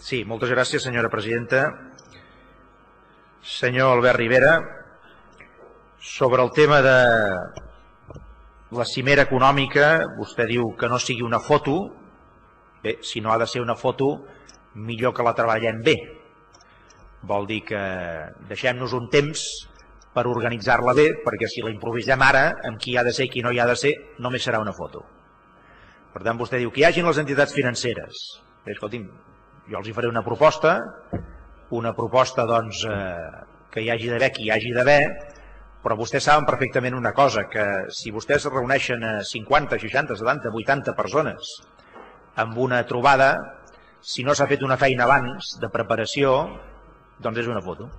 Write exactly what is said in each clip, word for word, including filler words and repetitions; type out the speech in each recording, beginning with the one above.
Sí, moltes gràcies, senyora presidenta. Senyor Albert Rivera, sobre el tema de la cimera econòmica, vostè diu que no sigui una foto. Bé, si no ha de ser una foto, millor que la treballem bé. Vol dir que deixem-nos un temps per organitzar-la bé, perquè si la improvisem ara, amb qui ha de ser i qui no hi ha de ser, només serà una foto. Per tant, vostè diu que hi hagin les entitats financeres. Bé, escolti'm, jo els hi faré una proposta, una proposta doncs, eh, que hi hagi d'haver qui hi hagi d'haver, però vostès saben perfectament una cosa, que si vostès es reuneixen a cinquanta, seixanta, setanta, vuitanta persones amb una trobada, si no s'ha fet una feina abans de preparació, doncs és una foto.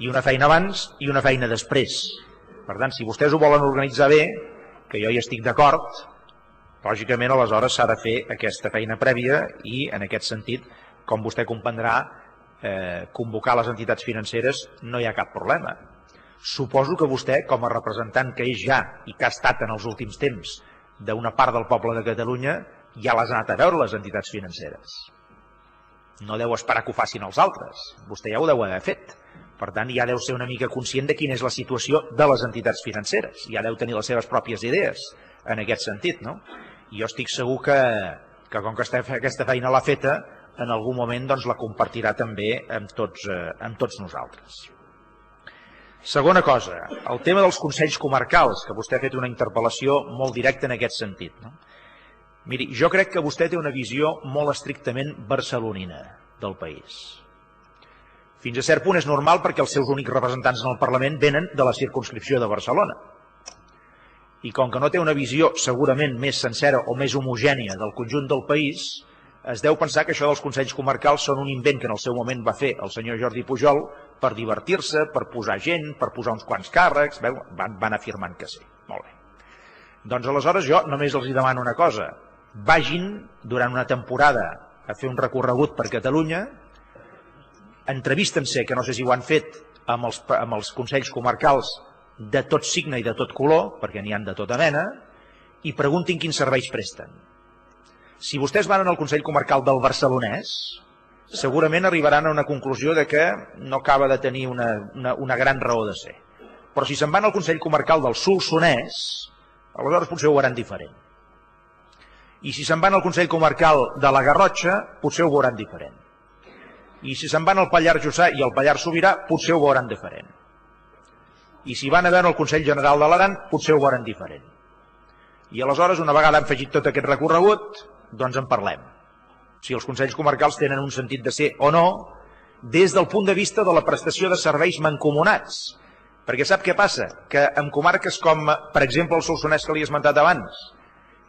I una feina abans i una feina després. Per tant, si vostès ho volen organitzar bé, que jo hi estic d'acord, lògicament aleshores s'ha de fer aquesta feina prèvia i en aquest sentit, com vostè comprendrà, eh, convocar les entitats financeres no hi ha cap problema. Suposo que vostè, com a representant que és ja i que ha estat en els últims temps d'una part del poble de Catalunya, ja les ha anat a veure les entitats financeres. No deu esperar que ho facin els altres, vostè ja ho deu haver fet. Per tant, ja deu ser una mica conscient de quina és la situació de les entitats financeres, ja deu tenir les seves pròpies idees en aquest sentit, no? I jo estic segur que, que com que aquesta feina l'ha feta, en algun moment doncs, la compartirà també amb tots, eh, amb tots nosaltres. Segona cosa, el tema dels consells comarcals, que vostè ha fet una interpel·lació molt directa en aquest sentit, no? Miri, jo crec que vostè té una visió molt estrictament barcelonina del país. Fins a cert punt és normal perquè els seus únics representants en el Parlament venen de la circumscripció de Barcelona. I com que no té una visió segurament més sencera o més homogènia del conjunt del país, es deu pensar que això dels consells comarcals són un invent que en el seu moment va fer el senyor Jordi Pujol per divertir-se, per posar gent, per posar uns quants càrrecs, van, van afirmant que sí. Molt bé. Doncs aleshores jo només els demano una cosa. Vagin durant una temporada a fer un recorregut per Catalunya, entrevisten-se, que no sé si ho han fet, amb els, amb els consells comarcals de tot signe i de tot color, perquè n'hi han de tota mena, i preguntin quins serveis presten. Si vostès van al Consell Comarcal del Barcelonès, segurament arribaran a una conclusió de que no acaba de tenir una, una, una gran raó de ser. Però si se'n van al Consell Comarcal del Solsonès, aleshores potser ho veuran diferent. I si se'n van al Consell Comarcal de la Garrotxa, potser ho veuran diferent. I si se'n van al Pallars Jussà i al Pallars Sobirà, potser ho veuran diferent. I si van a veure el Consell General de l'Aran, potser ho veuran diferent. I aleshores, una vegada han afegit tot aquest recorregut, doncs en parlem. Si els Consells Comarcals tenen un sentit de ser o no, des del punt de vista de la prestació de serveis mancomunats. Perquè sap què passa? Que en comarques com, per exemple, el Solsonès que li he esmentat abans,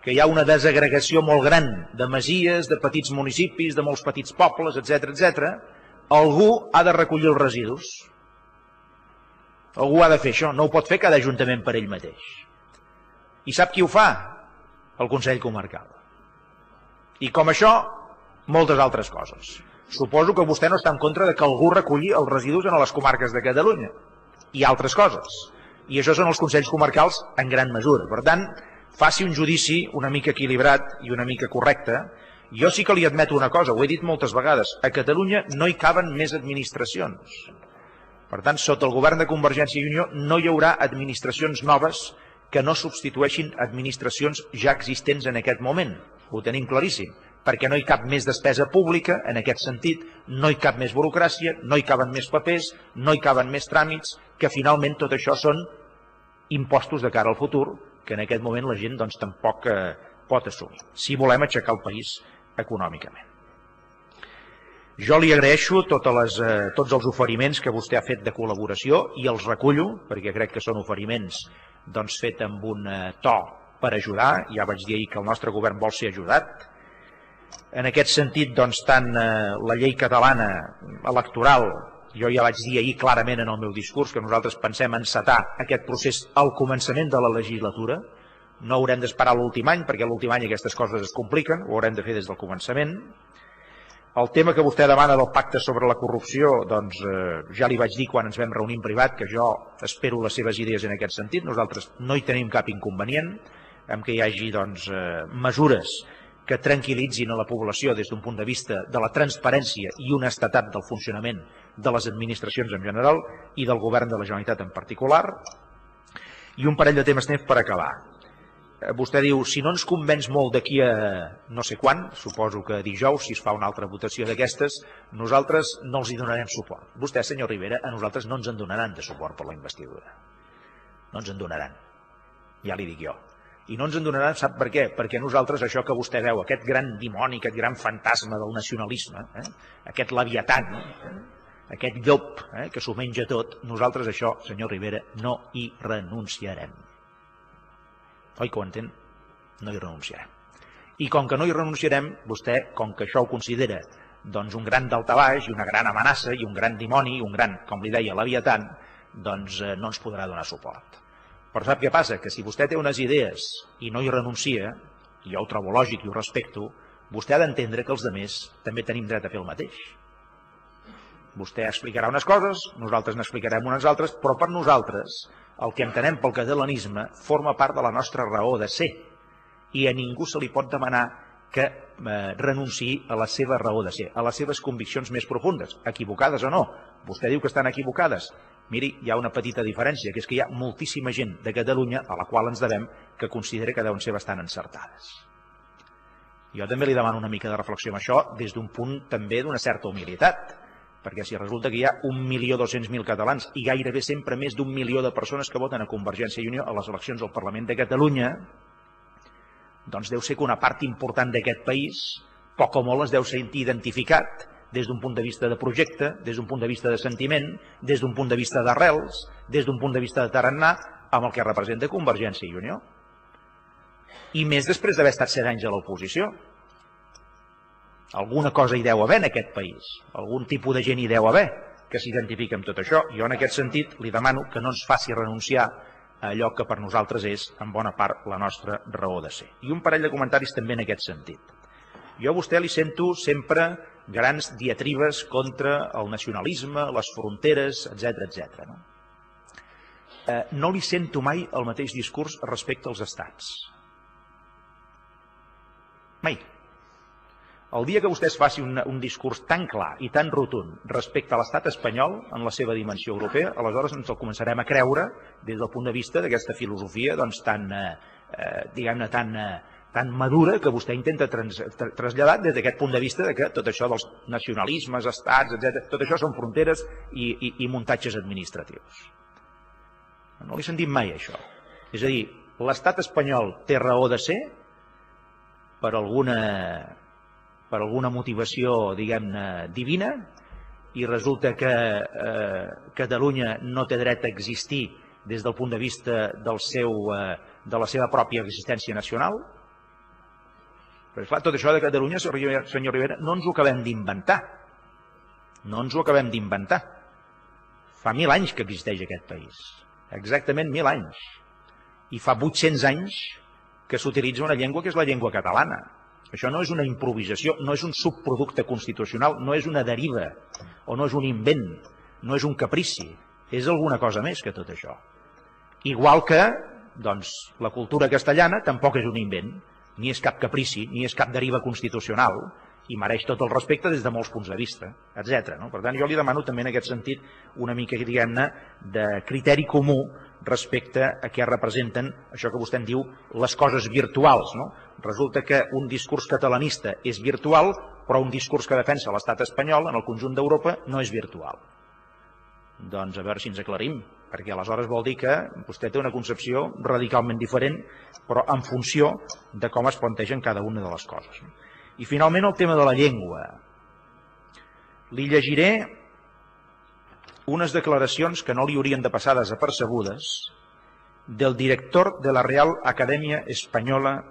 que hi ha una desagregació molt gran de masies, de petits municipis, de molts petits pobles, etcètera, etcètera, algú ha de recollir els residus. Algú ha de fer això, no ho pot fer cada ajuntament per ell mateix. I sap qui ho fa? El Consell Comarcal. I com això, moltes altres coses. Suposo que vostè no està en contra de que algú reculli els residus en les comarques de Catalunya. I altres coses. I això són els Consells Comarcals en gran mesura. Per tant, faci un judici una mica equilibrat i una mica correcte. Jo sí que li admeto una cosa, ho he dit moltes vegades, a Catalunya no hi caben més administracions. Per tant, sota el govern de Convergència i Unió no hi haurà administracions noves que no substitueixin administracions ja existents en aquest moment. Ho tenim claríssim, perquè no hi cap més despesa pública, en aquest sentit, no hi cap més burocràcia, no hi caben més papers, no hi caben més tràmits, que finalment tot això són impostos de cara al futur, que en aquest moment la gent doncs, tampoc eh, pot assumir, si volem aixecar el país econòmicament. Jo li agraeixo totes les, eh, tots els oferiments que vostè ha fet de col·laboració i els recullo, perquè crec que són oferiments doncs, fet amb un eh, to per ajudar. Ja vaig dir ahir que el nostre govern vol ser ajudat. En aquest sentit, doncs, tant eh, la llei catalana electoral, jo ja vaig dir ahir clarament en el meu discurs que nosaltres pensem encetar aquest procés al començament de la legislatura. No haurem d'esperar l'últim any, perquè l'últim any aquestes coses es compliquen, ho haurem de fer des del començament. El tema que vostè demana del pacte sobre la corrupció, doncs eh, ja li vaig dir quan ens vam reunir en privat que jo espero les seves idees en aquest sentit. Nosaltres no hi tenim cap inconvenient en que hi hagi doncs, eh, mesures que tranquil·litzin a la població des d'un punt de vista de la transparència i honestedat del funcionament de les administracions en general i del govern de la Generalitat en particular. I un parell de temes temps per acabar. Vostè diu, si no ens convenç molt d'aquí a no sé quan, suposo que dijous, si es fa una altra votació d'aquestes, nosaltres no els hi donarem suport. Vostè, senyor Rivera, a nosaltres no ens en donaran de suport per la investidura. No ens en donaran. Ja li dic jo. I no ens en donaran, sap per què? Perquè nosaltres això que vostè veu, aquest gran dimoni, aquest gran fantasma del nacionalisme, eh? aquest leviatan, eh? aquest llop eh? que s'ho menja tot, nosaltres això, senyor Rivera, no hi renunciarem. Oi que ho entén? No hi renunciarem. I com que no hi renunciarem, vostè, com que això ho considera doncs un gran daltabaix i una gran amenaça i un gran dimoni i un gran, com li deia, leviatan, doncs eh, no ens podrà donar suport. Però sap què passa? Que si vostè té unes idees i no hi renuncia, i jo ho trobo lògic i ho respecto, vostè ha d'entendre que els altres també tenim dret a fer el mateix. Vostè explicarà unes coses, nosaltres n'explicarem unes altres, però per nosaltres el que entenem pel catalanisme forma part de la nostra raó de ser i a ningú se li pot demanar que eh, renunciï a la seva raó de ser, a les seves conviccions més profundes, equivocades o no. Vostè diu que estan equivocades. Miri, hi ha una petita diferència, que és que hi ha moltíssima gent de Catalunya a la qual ens devem que considera que deuen ser bastant encertades. Jo també li demano una mica de reflexió amb això des d'un punt també d'una certa humilitat, perquè si resulta que hi ha un milió dos-cents mil catalans i gairebé sempre més d'un milió de persones que voten a Convergència i Unió a les eleccions al Parlament de Catalunya, doncs deu ser que una part important d'aquest país, poc o molt es deu sentir identificat des d'un punt de vista de projecte, des d'un punt de vista de sentiment, des d'un punt de vista d'arrels, des d'un punt de vista de tarannà, amb el que representa Convergència i Unió. I més després d'haver estat set anys a l'oposició. Alguna cosa hi deu haver en aquest país, algun tipus de gent hi deu haver que s'identifica amb tot això. Jo en aquest sentit li demano que no ens faci renunciar a allò que per nosaltres és en bona part la nostra raó de ser. I un parell de comentaris també en aquest sentit. Jo a vostè li sento sempre grans diatribes contra el nacionalisme, les fronteres, etcètera, etcètera. No? Eh, no li sento mai el mateix discurs respecte als estats. Mai. El dia que vostè es faci un, un discurs tan clar i tan rotund respecte a l'estat espanyol en la seva dimensió europea, aleshores ens el començarem a creure des del punt de vista d'aquesta filosofia doncs, tan, eh, diguem-ne, tan, eh, tan madura que vostè intenta trans, tra, traslladar des d'aquest punt de vista de que tot això dels nacionalismes, estats, etcètera, tot això són fronteres i, i, i muntatges administratius. No l'he sentit mai, això. És a dir, l'estat espanyol té raó de ser per alguna... per alguna motivació, diguem-ne, divina, i resulta que eh, Catalunya no té dret a existir des del punt de vista del seu, eh, de la seva pròpia existència nacional. Però, esclar, tot això de Catalunya, senyor Rivera, no ens ho acabem d'inventar. No ens ho acabem d'inventar. Fa mil anys que existeix aquest país. Exactament mil anys. I fa vuit-cents anys que s'utilitza una llengua que és la llengua catalana. Això no és una improvisació, no és un subproducte constitucional, no és una deriva, o no és un invent, no és un caprici, és alguna cosa més que tot això. Igual que doncs, la cultura castellana tampoc és un invent, ni és cap caprici, ni és cap deriva constitucional, i mereix tot el respecte des de molts punts de vista, etcètera. No? Per tant, jo li demano també en aquest sentit una mica, diguem-ne, de criteri comú respecte a què representen això que vostè en diu les coses virtuals. No? Resulta que un discurs catalanista és virtual, però un discurs que defensa l'estat espanyol en el conjunt d'Europa no és virtual. Doncs a veure si ens aclarim, perquè aleshores vol dir que vostè té una concepció radicalment diferent, però en funció de com es plantegen cada una de les coses. I finalment el tema de la llengua. Li llegiré unes declaracions que no li haurien de passar desapercebudes del director de la Real Acadèmia Espanyola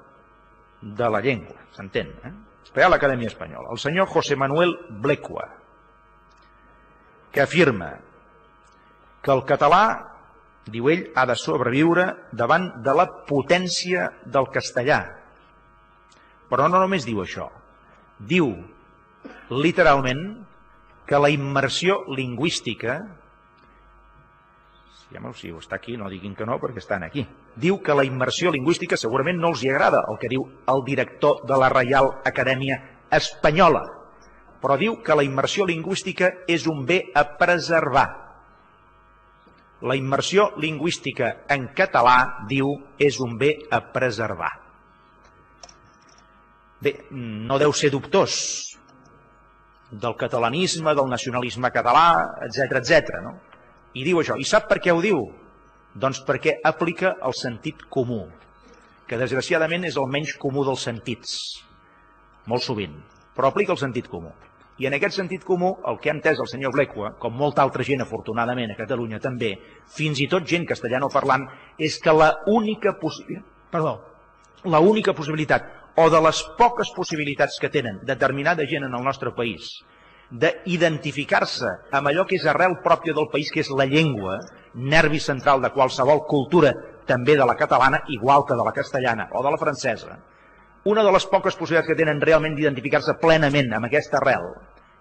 de la Llengua, s'entén, eh? Real Acadèmia Espanyola, el senyor José Manuel Blecua, que afirma que el català, diu ell, ha de sobreviure davant de la potència del castellà. Però no només diu això, diu literalment que la immersió lingüística Si està aquí, no diguin que no, perquè estan aquí. Diu que la immersió lingüística segurament no els hi agrada, el que diu el director de la Reial Acadèmia Espanyola, però diu que la immersió lingüística és un bé a preservar. La immersió lingüística en català, diu, és un bé a preservar. Bé, no deu ser dubtós del catalanisme, del nacionalisme català, etcètera, etcètera, no? I diu això. I sap per què ho diu? Doncs perquè aplica el sentit comú, que desgraciadament és el menys comú dels sentits, molt sovint, però aplica el sentit comú. I en aquest sentit comú, el que ha entès el senyor Blecua, com molta altra gent afortunadament a Catalunya també, fins i tot gent castellanoparlant, és que l'única possibilitat, perdó, l'única possibilitat, o de les poques possibilitats que tenen determinada gent en el nostre país, d'identificar-se amb allò que és arrel pròpia del país, que és la llengua, nervi central de qualsevol cultura, també de la catalana, igual que de la castellana o de la francesa, una de les poques possibilitats que tenen realment d'identificar-se plenament amb aquesta arrel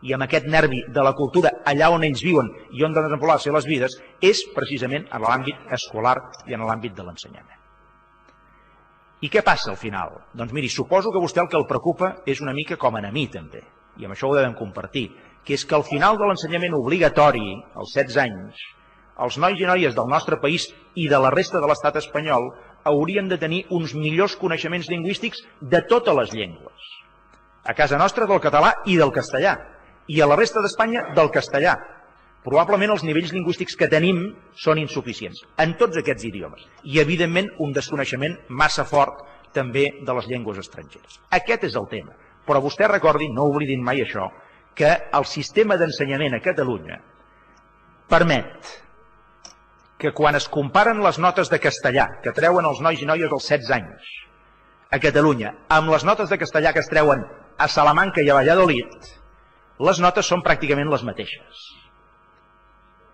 i amb aquest nervi de la cultura allà on ells viuen i on han de desenvolupar les seves vides, és precisament en l'àmbit escolar i en l'àmbit de l'ensenyament. I què passa al final? Doncs miri, suposo que a vostè el que el preocupa és una mica com a mi també, i amb això ho devem compartir, que és que al final de l'ensenyament obligatori, als setze anys, els nois i noies del nostre país i de la resta de l'estat espanyol haurien de tenir uns millors coneixements lingüístics de totes les llengües. A casa nostra del català i del castellà, i a la resta d'Espanya del castellà. Probablement els nivells lingüístics que tenim són insuficients en tots aquests idiomes i, evidentment, un desconeixement massa fort també de les llengües estrangeres. Aquest és el tema. Però vostè recordi, no oblidin mai això, que el sistema d'ensenyament a Catalunya permet que quan es comparen les notes de castellà que treuen els nois i noies als setze anys a Catalunya amb les notes de castellà que es treuen a Salamanca i a Valladolid, les notes són pràcticament les mateixes.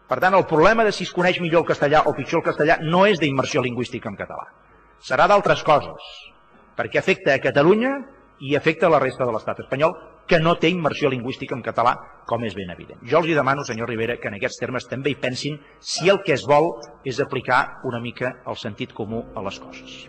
Per tant, el problema de si es coneix millor el castellà o pitjor el castellà no és d'immersió lingüística en català. Serà d'altres coses, perquè afecta a Catalunya i afecta a la resta de l'estat espanyol, que no té immersió lingüística en català, com és ben evident. Jo els demano, senyor Rivera, que en aquests termes també hi pensin si el que es vol és aplicar una mica el sentit comú a les coses.